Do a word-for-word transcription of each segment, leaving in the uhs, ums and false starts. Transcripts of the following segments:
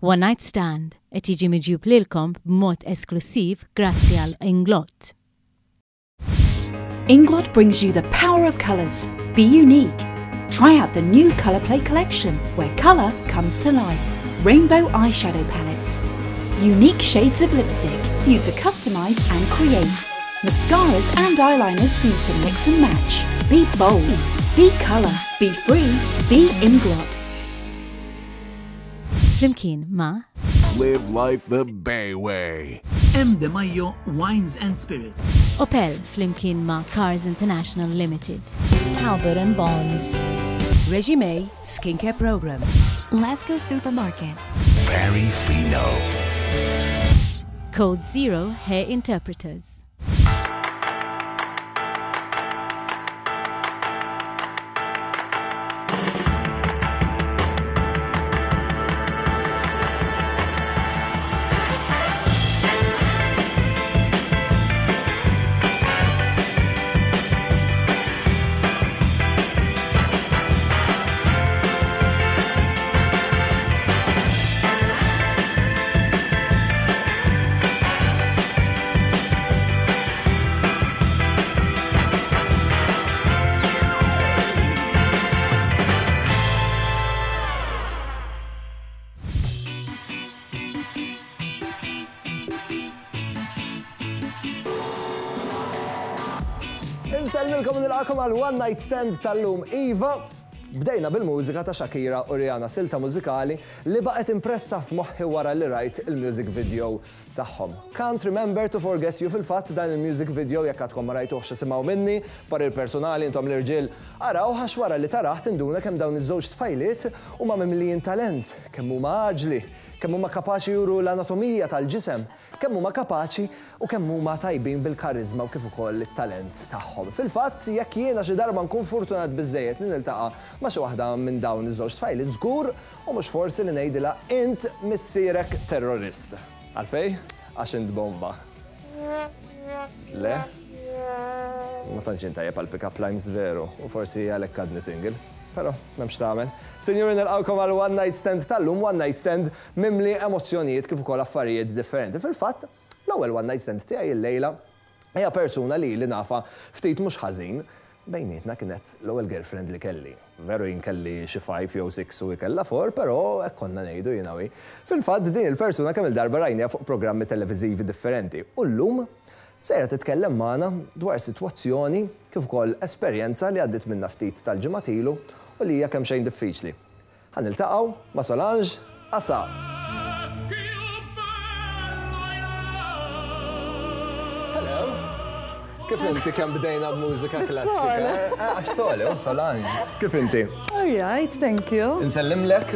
One Night Stand qed jiġi miġjub lilkom b'mod esklusiv grazzi għal Inglot. Inglot brings you the power of colours. Be unique. Try out the new Colour Play collection, where colour comes to life. Rainbow eyeshadow palettes. Unique shades of lipstick for you to customise and create. Mascaras and eyeliners for you to mix and match. Be bold. Be colour. Be free. Be Inglot. Flimkien ma' Live life the Bay Way. M. De Mayo Wines and Spirits. Opel flimkien ma' Cars International Limited. Halbert and Bonds. Resume Skincare Program. Lasco Supermarket. Very Fino. Code Zero Hair Interpreters. Insellmilkom nilqakom għal One Night Stand tal-lum. Iva, bdejna bil-mużika ta' Shakira u Rihanna, silta mużikali li baqgħet impressa f'moħħi wara li rajt il-music video tagħhom. Can't Remember to Forget You, fil-fatt dan il-music video jekk għadkom ma rajtuhx isimgħu minni, parir personali intom l-irġiel araw għax wara li taraħ tinduna kemm dawn iż-żewġ tfajliet huma mimlijin talent, kemm huma aġli, kemm huma kapaċi juru l-anatomija tal-ġisem, kemm huma kapaċi u kemm huma tajbin bil-karizma u kif ukoll it-talent tagħhom. Fil-fatt, jekk jiena xi darba nkun fortunat biżejjed li niltaqa' ma' xi waħda minn dawn iż-żewġ tfajliet żgur u mhux forsi li ngħidilha int missierek terrorist. Għalfej? Għax int bomba. Le? Ma tantx int tajjeb għal pick-up lines veru u forsi għalhekk għadni single. Però m'hemmx tagħmel. Sinjuri, nilqgħukom għal One Night Stand tal-lum, One Night Stand mimli emozzjonijiet kif ukoll affarijiet differenti. Fil-fatt, l-ewwel One Night Stand tiegħi illejla hija persuna li li nafa ftit mhux ħażin. Bejnietna kienet l-ewwel girlfriend li kelli. Veru jien kelli xi five jew six u kellha four, però hekk konna ngħidu jiena wi. Fil-fatt din il-persuna kemm il-darba rajniha fuq programmi televiżivi differenti. U llum sejra titkellem magħna dwar sitwazzjoni kif ukoll esperjenza li għaddiet minna ftit tal-ġimgħat ilu u li hija kemm xejn diffiċli. Ħa niltaqgħu ma' Solange Asa. Hello. Kif inti kemm bdejna b'mużika klassika? Eh, Għax Sole, u Solange. Kif inti? All right, thank you. Insellimlek?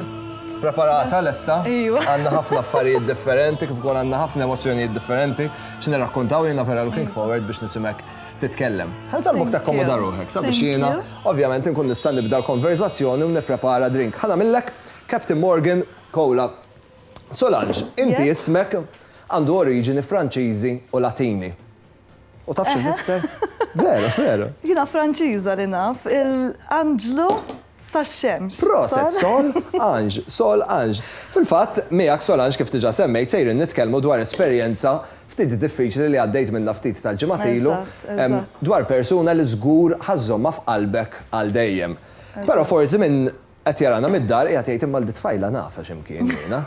Preparata lesta? Iva. Għandna ħafna affarijiet differenti, kif ukoll għandna ħafna emozzjonijiet differenti. X'nirrakkontaw jiena vera looking forward biex nisimek titkellem. Ħa talbok Thank takkomoda you. ruħek, sabiex Thank jiena you. ovvjament inkun nista' nibda l-konverzazzjoni u nipprepara drink. Ħa nagħmillek Captain Morgan Cola. Solange, inti Yes. ismek għandu oriġini Franċiżi u Latini. U taf xi fisser? Veru, veru. Jiena Franċiża li naf, il-Anġlu tax-xemx. Proset, Sol? Sol, Ange, Sol, Ange. Fil-fatt, miegħek Solange kif diġà semmejt sejrin nitkellmu dwar esperjenza ftit diffiċli li għaddejt minna ftit tal-ġimgħat ilu Eżatt, em, eżatt. dwar persuna li żgur ħa żżommha f'qalbek għal dejjem. Però forsi minn qed jarana mid-dar qiegħed jgħid imma l-tfajla nafa x'imkien jiena.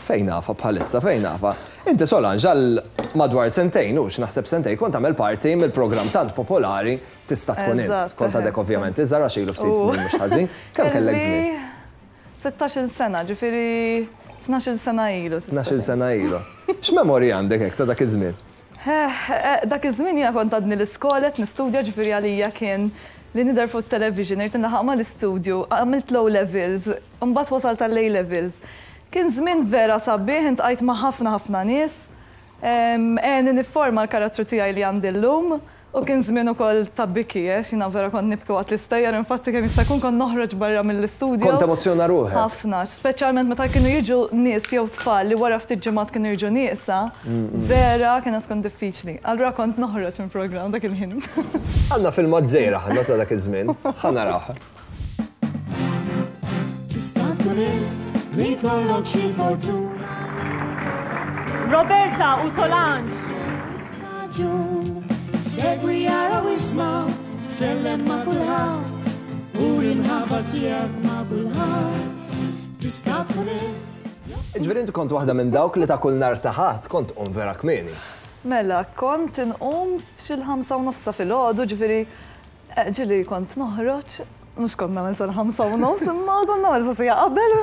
Fejn nafa bħalissa, fejn nafa. Inti Solange għal madwar sentejn, hux naħseb sentejn, kont tagħmel parti mill-programm tant popolari Tista' tkun int. Eżatt, Kont għadek eħe. ovvjament iżgħar għax ilu ftit U. snin mhux ħażin. Kemm kellek żmien? sittax-il sena, ġifieri tnax-il sena ilu. tista' Tnax-il sena ilu. X'memorji għandek hekk ta' dak iż-żmien? Eh, eh, Dak iż-żmien jiena kont għadni l-iskola qed nistudja, ġifieri għalija kien li nidher fuq television, irid inlaħaq mal-istudju, għamilt l-O levels, mbagħad wasalt għall-A levels. Kien żmien vera sabiħ, iltqajt ma' ħafna ħafna nies. Għeni nifforma l-karattru tiegħi li għandi llum u kien żmien ukoll ta' biki, eh, jiena vera kont nibki waqt l-istejjer, infatti kemm jista' jkun kont noħroġ barra mill-istudju. Kont emozzjona ruħek. Ħafna, speċjalment meta kienu jiġu nies jew tfal li wara ftit ġimgħat kienu jiġu nieqsa, vera kienet tkun diffiċli. Allura kont noħroġ minn programm dak il-ħin. Għandna filmat żgħira ħanna ta' dak iż-żmien. Ħa narawh. Tista' tkun int Li jkollok xi fortuna. Roberta u Solange. Segwi ara u isma', tkellem ma' kulħadd, uri l-mħabba tiegħek ma' kulħadd. Tista' tkun int. Ġifieri inti kont waħda minn dawk li ta' kull nhar ta' Ħadd kont tqum vera kmieni. Mela, kont inqum f'xi l-ħamsa u nofs ta' filgħodu, ġifieri ġieli kont noħroġ, mhux kont nagħmel sal-ħamsa u nofs, imma kont nagħmel sa siegħa qabel.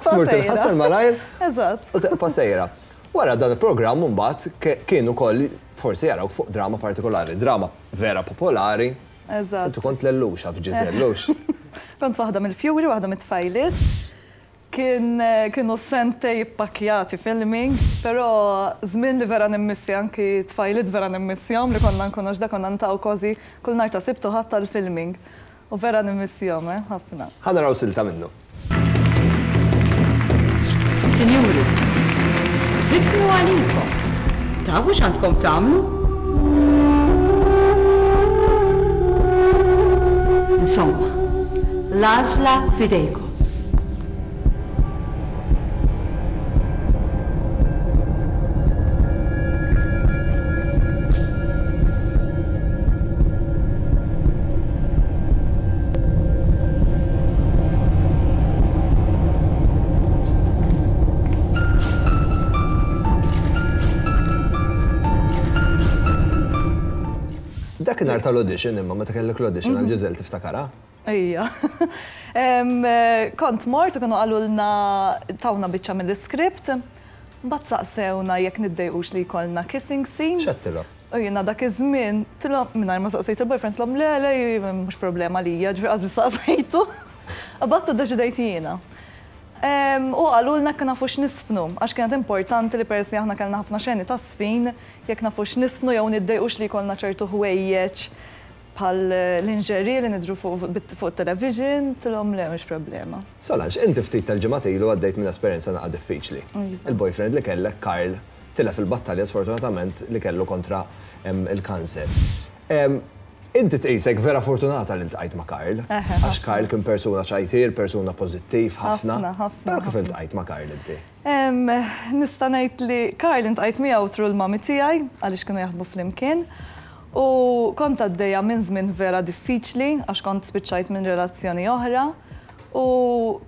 Tmur tinħasel malajr. Eżatt. U tibqa' sejra. Wara dan il-programm mbagħad kien ukoll forsi jaraw fuq drama partikolari, drama vera popolari. Eżatt. Inti kont Lelluxa f'Ġiżellux. Kont waħda mill-fjuri, waħda mit-tfajliet. Kien kienu sentejn ippakkjati filming, però żmien li vera nimmissja anki tfajliet vera nimmissjahom li konna nkunu x'da konna niltaqgħu kważi kull nhar ta' Sibt u Ħadd tal-filming. U vera nimmissjahom, eh, ħafna. Ħa naraw silta minnu. Sinjuri, żifnu għalikom. Tafu x'għandkom tagħmlu? Insomma, l-għażla f'idejkom. Dakinhar tal-audition imma meta kellek l-audition għal Ġiżel tiftakara? Ejja. Kont mort u kienu qalulna tawna biċċa mill-iskript, mbagħad saqsewna jekk niddejqux li jkollna kissing scene. X'għedtilhom? U jiena dak iż-żmien tilhom mingħajr ma saqsejt il-boyfriend tilhom le le mhux problema lija, ġifieri qas biss saqsejtu. Imbagħad iddeċidejt jiena. U qalulna jekk nafux niżfnu, għax kienet importanti li peress li aħna kellna ħafna xeni ta' żfin, jekk nafux niżfnu jew niddejqux li jkollna ċertu ħwejjeġ bħal lingerie li nidru fuq television, tilhom le mhux problema. Solange, inti ftit tal-ġimgħat ilu għaddejt minn esperjenza naqa' diffiċli. Il-boyfriend li kellek Karl tilef il-battalja sfortunatament li kellu kontra il-kanser. Inti tqisek vera fortunata li ltqajt ma' Karl, għax Karl kien persuna ċajtier, persuna pożittiv ħafna. Però kif iltqajt ma' Karl inti? Nista' ngħid li Karl iltqajt miegħu through l-mami tiegħi għaliex kienu jaħdmu flimkien. U kont għaddejja minn żmien vera diffiċli għax kont spiċċajt minn relazzjoni oħra. U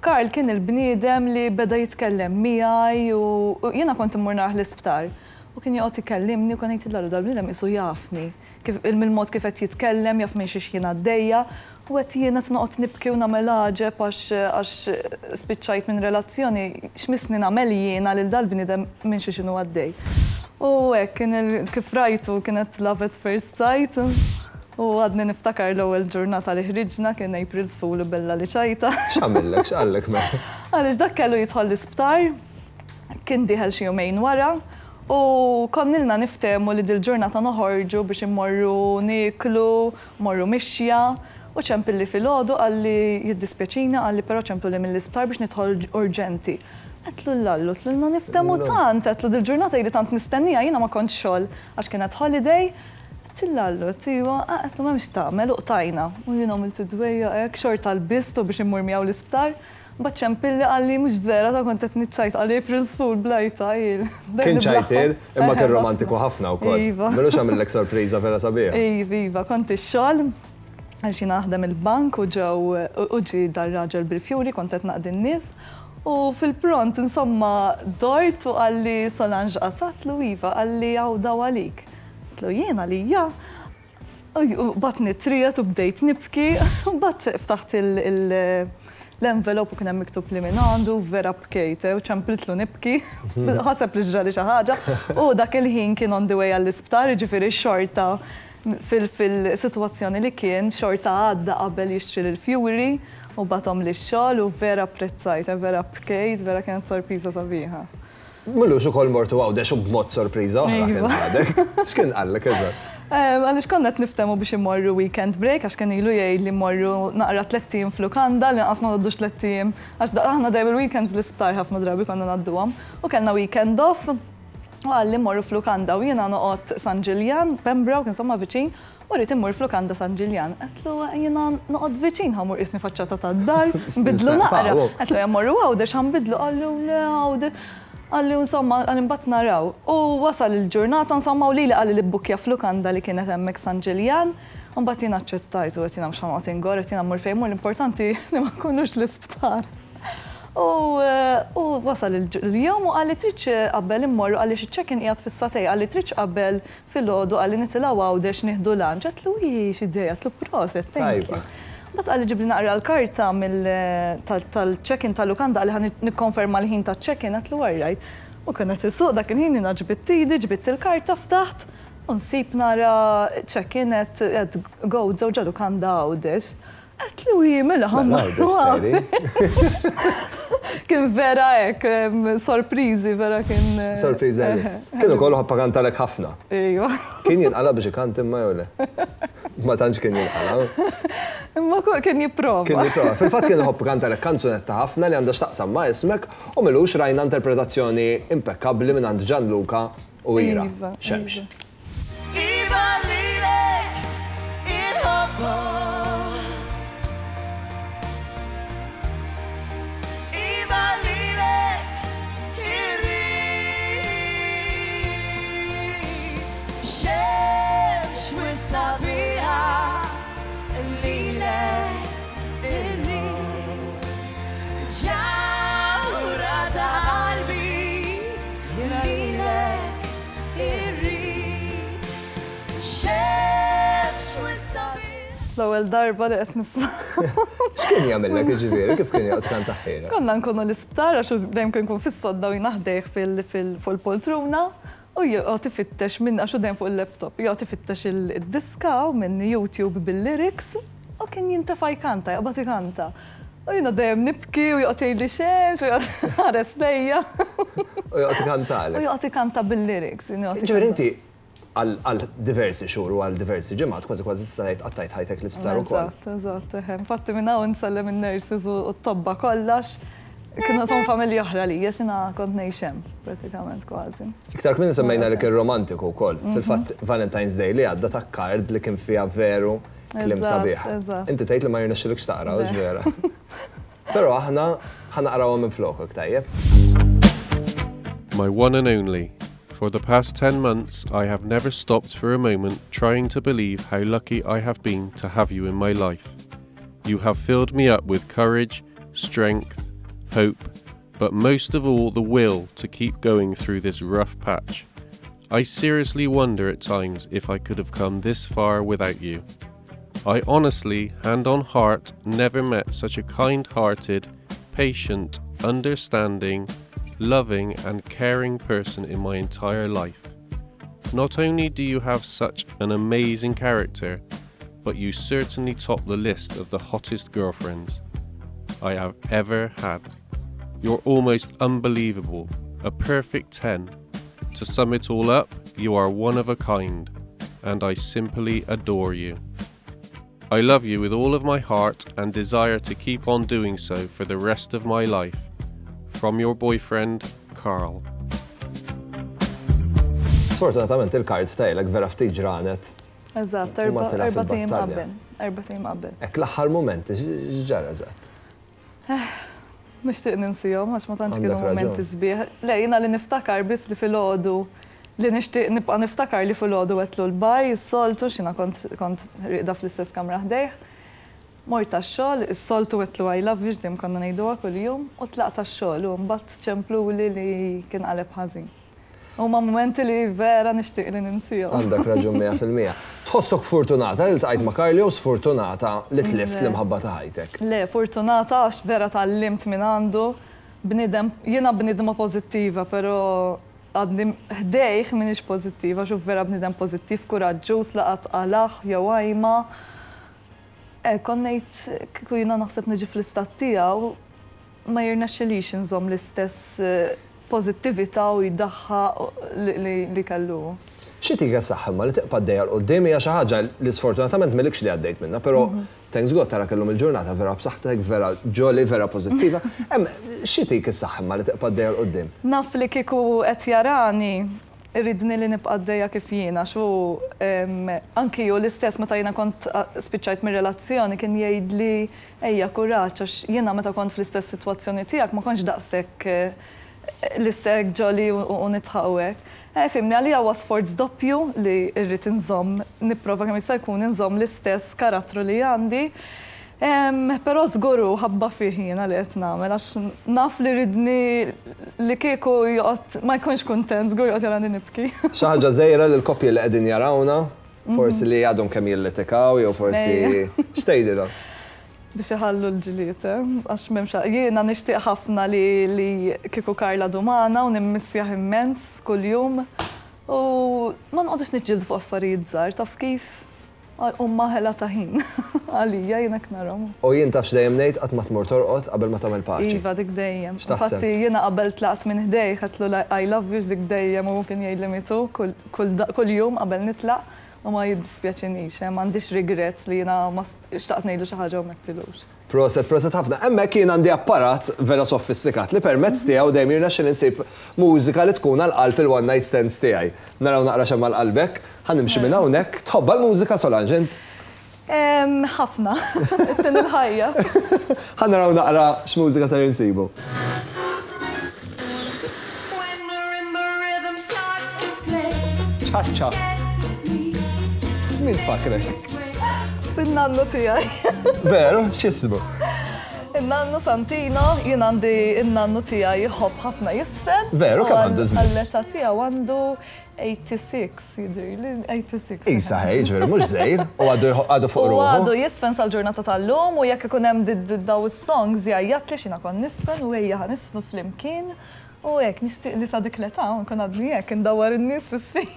Karl kien il-bniedem li beda jitkellem miegħi u jiena kont immur narah l-isptar. U kien joqgħod ikellimni u kien jgħid dal-bniedem qisu jafni. Mill-mod kif qed jitkellem, jaf minn xiex jien għaddejja. U qed jiena noqgħod nibki u nagħmel għaġeb għax spiċċajt minn relazzjoni, x'missni nagħmel jiena lil dal-bniedem minn xiex inhu għaddej. U hekk kien kif rajtu kienet love at first sight. U għadni niftakar l-ewwel ġurnata li ħriġna kien April's Fool u bella li ċajta. X'għamillek, x'qallek mela? Għaliex dak kellu jidħol l-isptar, kien dieħel xi jumejn wara. U konna ilna niftehmu li dil-ġurnata noħorġu biex immorru nieklu, mmorru mixja. U ċempilli filgħodu qalli jiddispjaċina, qalli però ċempilli mill-isptar biex nidħol urġenti. Għedtlu l-allu, għedtlu niftehmu tant, għedtlu dil-ġurnata ili tant nistennija, jiena ma kontx xogħol għax kienet holiday. Għedtlu l-allu, għedtlu għedtlu m'hemmx tagħmel u qtajna. U jiena għamilt dwejja hekk xorta lbistu biex immur miegħu l-isptar. Mbagħad ċempilli qalli mhux vera ta' kont qed niċċajt qalli April's Fool blajta. Kien ċajtier, imma kien romantiku ħafna wkoll. Iva. M'ilux għamillek sorpriża vera sabiħa. Iva, iva, kont ix-xogħol għax jiena naħdem il-bank u ġew u ġie dar-raġel bil-fjuri kont qed naqdi n-nies. U fil-pront, insomma, dort u qalli Solange qasatlu iva, qalli hawn daw għalik. Għedtlu jien għalija. U batni trijet u bdejt nibki, u mbagħad ftaħt l-envelop u kien hemm miktub li minn għandu, vera bkejt, u ċempiltlu nibki, ħaseb li ġrali xi ħaġa, u dak il-ħin kien on the way għall-isptar, jiġifieri xorta fil-sitwazzjoni li kien, xorta għadda qabel jixtri l-fjuri u bagħathom lix-xogħol u vera apprezzajt, vera bkejt, vera kienet sorpriża sabiħa. M'ilux ukoll mortu Għawdex u b'mod sorpriża oħra kien għadek. X'kien qallek eżatt? Għaliex konna qed niftehmu biex immorru weekend break, għax kien ilu jgħid li mmorru naqra tlett ijiem f'lukanda, li nqas ma ngħaddux tlett ijiem, għax aħna dejjem il-weekends l-isptar ħafna drabi konna ngħadduhom. U kellna weekend off, u qalli mmorru f'lukanda u jiena noqgħod San Ġiljan, Pembroke, insomma viċin, U rrid immur f'lukanda San Ġiljan. Għedtlu jiena noqgħod viċin ħa mmur qisni faċċata tad-dar, nbidlu naqra. Għedtlu ejja mmorru Għawdex ħa nbidlu, qallu le Għawdex. Qalli insomma, qalli mbagħad naraw. U wasal il-ġurnata insomma u lili qalli li bbukkja f'lukanda li kienet hemmhekk San Ġiljan. U mbagħad jiena aċċettajt u għedt jiena mhux ħa noqgħod ingorr, għedt jiena mmur fejn mmur, l-importanti li ma nkunux l-isptar. U wasal il-jum u qalli tridx qabel immorru għaliex iċ-check-in qiegħed fis-satej, qalli tridx qabel filgħodu qalli nitilgħu Għawdex nieħdu lunch. Għedtlu hi x'idea, għedtlu proset, thank you. Mbagħad qalli ġibli naqra l-karta tal-check-in tal-lukanda qalli ħa nikkonferma l-ħin taċ-check-in, għedtlu all right. U kien qed isuq dak il-ħin jiena ġbidt idi, ġbidt il-karta ftaħt u nsib nara check-in at Gozo ġo lukanda Għawdex. Għedtlu hi mela ħa mmorru. Kien vera hekk, sorpriżi vera kien. Sorpriżi. Kien ukoll ħabba kantalek ħafna. Ejwa. Kien jinqala biex ikant imma jew le? Ma tantx kien jinqala. Imma kien jipprova. Kien jipprova. Fil-fatt kien iħobb kantalek kanzunetta ħafna li għandha x'taqsam ma' ismek u m'ilux rajna interpretazzjoni impekkabbli minn għand Gianluca u Ira. Xemx. Iva lilek inħobbok. Iva lilek irrid. Xemx wissabiha lilek irrid. Ġawra ta' qalbi jiena lilek irrid. Xemx wissabiha. L-ewwel darba li qed nisma'. X'kien jagħmellek jiġifieri, kif kien joqgħod kantaħħielek? Konna nkunu l-isptar għax dejjem kien ikun fis-sodda u jiena ħdejh fuq il-poltruna u joqgħod ifittex minn għax hu dejjem fuq il-laptop, joqgħod ifittex id-diska minn YouTube bil-lyrics u kien jintefa' jkanta, jaqbad ikanta. U jiena dejjem nibki u joqgħod jgħidli xemx u joqgħod ħares lejja. U joqgħod ikantalek. U joqgħod ikanta bil-lyrics. Ġifieri inti għal diversi xhur u għal diversi ġimgħat kważi kważi tista' tgħid qattajt ħajtek l-isptar ukoll. Eżatt, eżatt, eħe. Infatti minn hawn nsellem in-nurses u t-tobba kollox. Kienu son familja oħra lija x'ina kont ngħix hemm pratikament kważi. Iktar kmieni semmejna li kien romantiku wkoll. Fil-fatt Valentine's Day li għadda ta' card li kien fiha veru kliem sabiħ. Inti tgħid li ma jirnexxilekx taqra, hux vera. Però aħna ħa naqrawha minn flokok, tajjeb. My one and only. For the past ten months, I have never stopped for a moment trying to believe how lucky I have been to have you in my life. You have filled me up with courage, strength, hope, but most of all the will to keep going through this rough patch. I seriously wonder at times if I could have come this far without you. I honestly, hand on heart, never met such a kind-hearted, patient, understanding, loving and caring person in my entire life. Not only do you have such an amazing character, but you certainly top the list of the hottest girlfriends I have ever had. You're almost unbelievable, a perfect ten. To sum it all up, you are one of a kind, and I simply adore you. I love you with all of my heart and desire to keep on doing so for the rest of my life. From your boyfriend, Carl. Sfortunatament il-kard tajlek vera ftit ġranet. Eżatt, erba' tiem qabel. Erba' tiem qabel. Hekk l-aħħar moment, x'ġara eżatt? Nixtieq ninsihom għax ma tantx kienu momenti sbieħ. Le, jiena li niftakar biss li filgħodu li nixtieq nibqa' niftakar li filgħodu għedtlu l-baj, is-soltu x'jiena kont kont rieqda fl-istess kamra ħdejh. Mort għax-xogħol, is-soltu għedtlu I love you x'dejjem konna ngħiduha kuljum u tlaqt għax-xogħol u mbagħad ċempluli li kien qaleb ħażin. Huma momenti li vera nixtieq li ninsihom. Għandek raġun mija fil-mija. Tħossok fortunata li ltqajt ma' Carl jew sfortunata li tlift l-imħabba ta' ħajtek? Le, fortunata għax vera tgħallimt minn għandu. Bniedem, jiena bniedma pożittiva, però għadni ħdejh m'iniex pożittiva, xuf vera bniedem pożittiv, kuraġġuż, laqat qalaħ jew għajma. Kont ngħid kieku jiena naħseb niġi fl-istat tiegħu ma jirnexxilix inżomm l-istess pożittività u jdaħħaq li kellu. Xi tika saħħa imma li tibqa' għaddejja 'l quddiem hija xi ħaġa li sfortunatament m'ilekx li għaddejt minnha, però thanks God tara kellhom il-ġurnata vera b'saħħtek, vera jolly, vera pożittiva. Hemm xi tik is-saħħa imma li tibqa' għaddejja 'l quddiem? Naf li kieku qed jarani Iridni li nibqa' għaddejja kif jiena, xu anki ju l-istess meta jiena kont spiċċajt mir-relazzjoni kien jgħidli ejja kuraġġ għax jiena meta kont fl-istess sitwazzjoni tiegħek ma kontx daqshekk l-istess ġoli u nitħawek. Fimni, għalija huwa sforz doppju li rrid inżomm, nipprova kemm jista' jkun inżomm l-istess karattru li għandi. Però żguru ħabba fih jiena li qed nagħmel għax naf li ridni li kieku joqgħod ma jkunx kuntent, żgur joqgħod jarani nibki. Xi ħaġa żgħira lil koppji li qegħdin jarawna, forsi li għadhom kemm jillitikaw jew forsi x'tgħidilhom? Biex iħallu l-ġlied, għax m'hemmx jiena nixtieq ħafna li kieku Karla dumana u nimmissjah immens kuljum u ma noqgħodux niġġieldu fuq affarijiet żgħar, taf kif? Umma ħela ta' ħin, għalija jiena knarhom. U jien tafx dejjem ngħid qatt ma tmur torqod qabel ma tagħmel paċi. Iva, dik dejjem. Infatti jiena qabel tlaqt minn ħdej ħadtlu I love you dik dejjem u kien jgħidli mitu kull jum qabel nitlaq u ma jiddispjaċinix, m'għandix regrets li jiena ma xtaqt ngħidlu xi ħaġa u ma għedtilux. Proset, proset ħafna. Hemmhekk jien għandi apparat vera sofistikat li permezz tiegħu dejjem jirnexxi insib mużika li tkun għal qalb il-one night stands tiegħi. Naraw naqra x'hemm għal qalbek, ħa nimxi minn hawnhekk. Tħobbha l-mużika Solange int? Ħafna. Ittin il-ħajja. Ħa naraw naqra x'mużika ser insibu. Ċaċċa. Min fakrek? Fin-nannu tiegħi. Veru, x'ismu? Il-nannu Santino, jien għandi il-nannu tiegħi jħobb ħafna jisfen. Veru, kemm għandu żmien? Għall-età tiegħu għandu eighty-six, jidhirli, eighty-six. Isa ħej, ġifieri mhux żgħir, u għadu fuq ruħu. U għadu jisfen sal-ġurnata tal-lum u jekk ikun hemm daw is-songs jgħajjat li x'jiena kont nisfen u ejja ħa nisfnu flimkien. U hekk nixtieq li sa dik l-età nkun għadni hekk indawwar in-nies fis-sfin.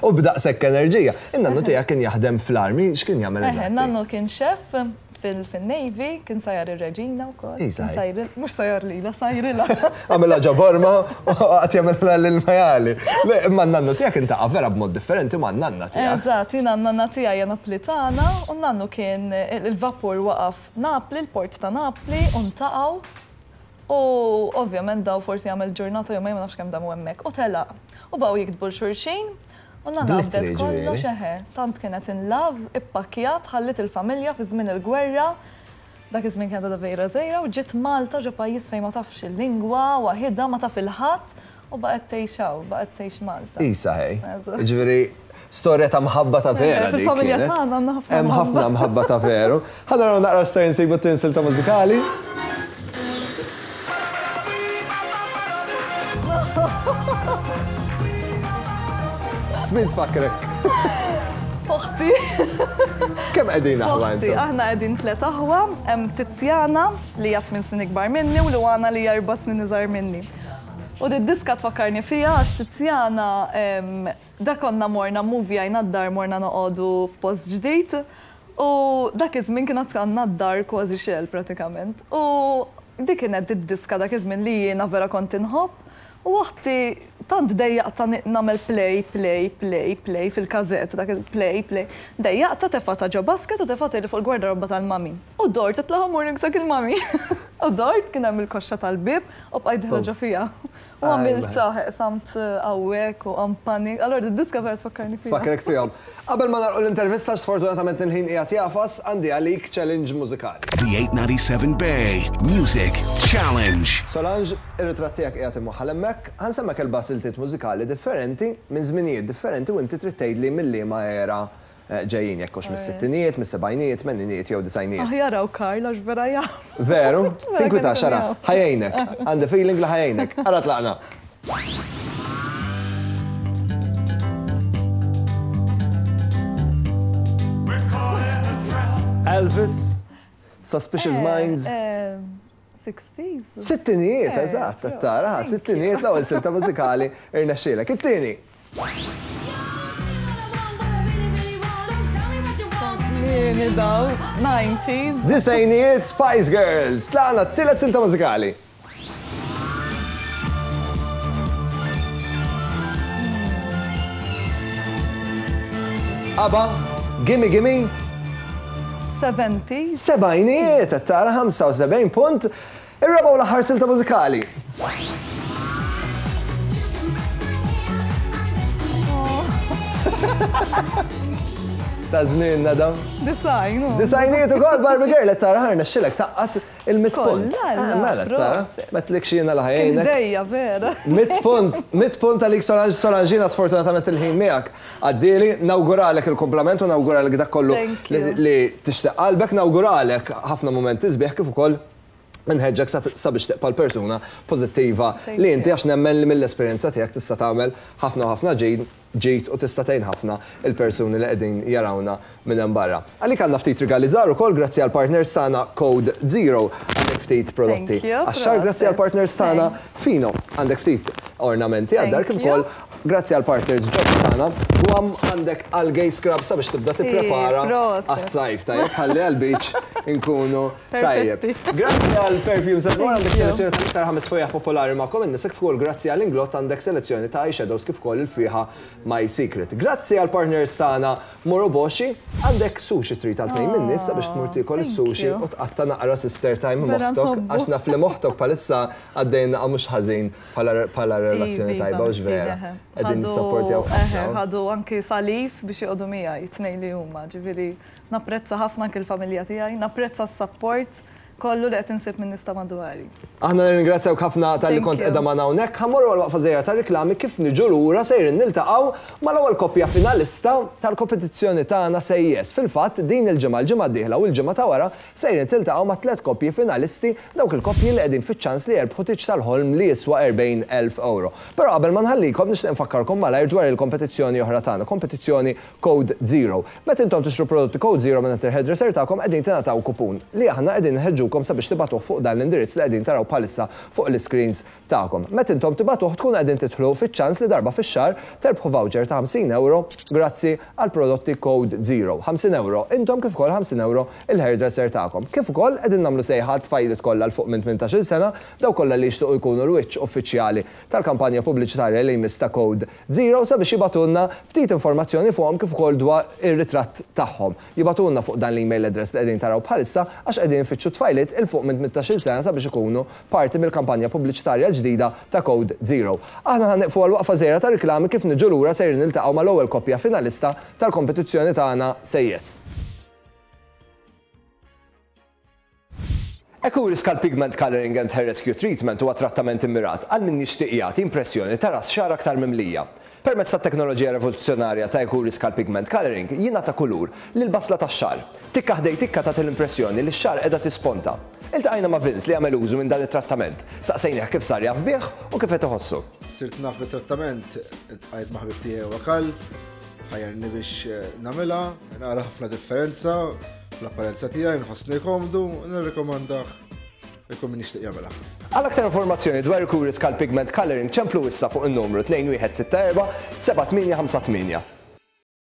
U b'daqshekk enerġija. In-nannu tiegħek kien jaħdem fl-armi, x'kien jagħmel eżatt? In-nannu kien chef fil-Navy, kien sajjar ir-reġina wkoll. Mhux sajjar lilha, sajrilha. Għamilha ġo borma u qatt jagħmilha lil majali. Le, imma n-nannu tiegħek intaqa' vera b'mod differenti ma' n-nanna tiegħek. Eżatt, jiena n-nanna tiegħi hija Naplitana u n-nannu kien il-vapur waqaf Napli, il-port ta' Napli, u ntaqgħu. U ovvjament daw forsi jagħmel ġurnata jew ma nafx kemm damu hemmhekk. U telaq. U baqgħu jiktbu l-xulxin. U nanna għabdet kollox eħe. Tant kienet in love, ippakkjat, ħallit il-familja fi żmien il-gwerra. Dak iż-żmien kienet għadha vera żgħira u ġiet Malta ġo pajjiż fejn ma tafx il-lingwa, waħidha ma taf il-ħadd u baqgħet tgħix hawn, baqgħet tgħix Malta. Isa ħej. Jiġifieri storja ta' mħabba ta' vera dik. Fil-familja tagħna għandna ħafna. Hemm ħafna mħabba ta' veru. Ħa naraw naqra x'ser insibu t-tinsil ta' mużikali. Min tfakrek? Oħti. Kemm qegħdin aħwa intom? Aħna qegħdin tliet aħwa, hemm Tiziana li hija tmien snin ikbar minni u Luana li hija erba' snin iżgħar minni. U di-diska tfakkarni fiha għax Tiziana da konna morna movjajna d-dar morna noqogħdu f'post ġdid u dak iż-żmien kien għandna d-dar kważi xejn pratikament. U dik kienet id-diska dak iż-żmien li jiena vera kont inħobb. U oħti tant dejjaqta nagħmel play, play, play, play fil-kazett, dak play, play. Dejjaqta tefata ġo basket u tefata li fuq il-gwardarobba tal-mami. U dort itlaħ morning sak il-mami. U dort kien hemm il-koxxa tal-bib u bqajt diħla ġo fiha. U għamilt saħeq samt hawnhekk u għampani. Allora d-diska vera tfakkarni fiha. Tfakkrek fihom. Qabel ma nagħlqu l-intervista, sfortunatament il-ħin qiegħed jafas, għandi għalik challenge mużikali. The eight ninety-seven Bay Music Challenge. Solange, ir-ritratt tiegħek qiegħed imwaħħal hemmhekk, ħansemmek erba' siltiet mużikali differenti minn żminijiet differenti u inti trid tgħidli mill-liema era ġejjin, jekk hux mis-sittinijiet, mis-sebgħinijiet, tmeninijiet jew disgħinijiet. Aħjar hawn Karl għax vera jaf. Veru? Tinkwitax ara, ħajjejnek. Għandi feeling li ħajjejnek. Ara tlaqna. Elvis, Suspicious Minds. sixties. Sittinijiet, eżatt, tara, sittinijiet l-ewwel silta mużikali irnexxielek. It-tieni. nineties. Disgħinijiet Spice Girls. Tlaqna t-tielet silta mużikali. ABBA, Gimme Gimme. seventies. Sebgħinijiet, tara ħamsa u sebgħin punt. Ir-raba' u l-aħħar silta mużikali. Ta' żmien nadam. Disgħin. Disgħinijiet ukoll Barbie Girl qed tara ħarna xilek taqqat il-mitt punt. Kollha, Mela tara, metlik xina la ħajjejnek. Dejja vera. Mitt punt, mitt punt għalik Solange Solangina sfortunatament il-ħin miegħek. Għaddieli, nawguralek il-kompliment u nawguralek dak kollu li tixtieq qalbek, nawguralek ħafna momenti sbieħ kif ukoll nħeġġek sabiex tibqa' l-persuna pożittiva li inti għax nemmen li mill-esperjenza tiegħek tista' tagħmel ħafna ħafna ġid u tista' tgħin ħafna il-persuni li qegħdin jarawna minn hemm barra. Għalik għandna ftit rigali żgħar ukoll grazzi għall partners tagħna Code Zero, għandek ftit prodotti għax-xagħar grazzi għall partners tagħna Fino, għandek ftit ornamenti għad-dar kif ukoll grazzi għall partners ġodda tagħna Guam għandek algae scrub sabiex tibda tipprepara għas-sajf tajjeb ħalli għall-beach inkunu tajjeb. Grazzi għal Perfumes and More għandek selezzjoni tal-iktar ħames fwejjaħ popolari magħkom in-nies kif ukoll grazzi għal Inglot għandek selezzjoni ta' eyeshadows kif ukoll il-fwieħa My Secret. Grazzi għal partners tagħna Moroboshi għandek sushi treat għal tnejn min-nies sabiex tmur tiekol is-sushi u tqatta' naqra sister time moħtok għax naf li moħtok bħalissa għaddejna mhux ħażin bħala relazzjoni tajba u vera. Qegħdin nissapportjaw ħafna. Ħadu anki salif biex joqogħdu miegħi tnejn li huma, ġifieri napprezza ħafna anki l-familja tiegħi, napprezza s-support kollu li qed insib minn nista' madwari. Aħna nirringrazzjawk ħafna talli kont qiegħda magħna hawnhekk. Ħa mmorru għal waqfa żgħira ta' riklami kif niġu lura sejrin niltaqgħu mal-ewwel koppja finalista tal-kompetizzjoni tagħna Say Yes. Fil-fatt din il-ġimgħa, l-ġimgħa d-dieħla u l-ġimgħa ta' wara sejrin tiltaqgħu ma' tliet koppji finalisti, dawk il-koppji li qegħdin fiċ-ċans li jerbħu tiġ tal-ħolm li jiswa erbgħin elf euro. Però qabel ma nħallikom nixtieq nfakkarkom malajr dwar il-kompetizzjoni oħra tagħna, kompetizzjoni Code Zero. Meta intom tixtru prodotti Code Zero minn il-hairdresser tagħkom qegħdin tingħataw kupun li aħna qegħdin nħeġġukom sabiex tibatuh fuq dan l-indirizz li qegħdin taraw bħalissa fuq l-screens tagħkom. Meta intom tibatuh tkun qegħdin tidħlu fiċ-ċans li darba fix-xahar terbħu voucher ta' ħamsin euro grazzi għal prodotti Code Zero. ħamsin euro intom kif ukoll ħamsin euro il-hairdresser tagħkom. Kif ukoll qegħdin nagħmlu sejħa tfajliet kollha l fuq minn tmintax-il sena, daw kollha li jixtiequ jkunu l-wiċċ uffiċjali tal-kampanja pubbliċitarja li jmiss ta' Code Zero sabiex jibatulna ftit informazzjoni fuqhom kif ukoll dwar ir-ritratt tagħhom. Jibatulna fuq dan l-email address li qegħdin taraw bħalissa għax qegħdin nfittxu tfajliet il fuq minn tmintax-il sena sabiex ikunu parti mill-kampanja pubbliċitarja ġdida ta' Code Zero. Aħna ħa nieqfu għal waqfa żgħira ta' riklami kif niġu lura sejrin niltaqgħu mal-ewwel koppja finalista tal-kompetizzjoni tagħna Say Yes. Ecuri Scalp Pigment Coloring and Hair Rescue Treatment huwa trattament immirat għal min jixtieq jagħti impressjoni ta' ras xagħar aktar mimlija. Permezz tat-teknoloġija rivoluzzjonarja ta' Ecuri Scalp Pigment Coloring jingħata kulur lil basla tax-xagħar. Tikka ħdej tikka tagħti l-impressjoni li x-xagħar qiegħda tisponta. Iltqajna ma' Vince li għamel użu minn dan it-trattament. Saqsejnieh kif sar jaf bih u kif qed iħossu. Sirt naf bit-trattament, iltqajt ma' ħabib tiegħi wakal, ħajjarni biex nagħmilha, nara ħafna differenza fl-apparenza tiegħi, nħossni komdu, nirrekomandah ikun min jixtieq jagħmilha. Għal aktar informazzjoni dwar Ecuri Scalp Pigment Coloring ċemplu issa fuq in-numru tnejn wieħed sitta erba' seba' tmienja ħamsa tmienja.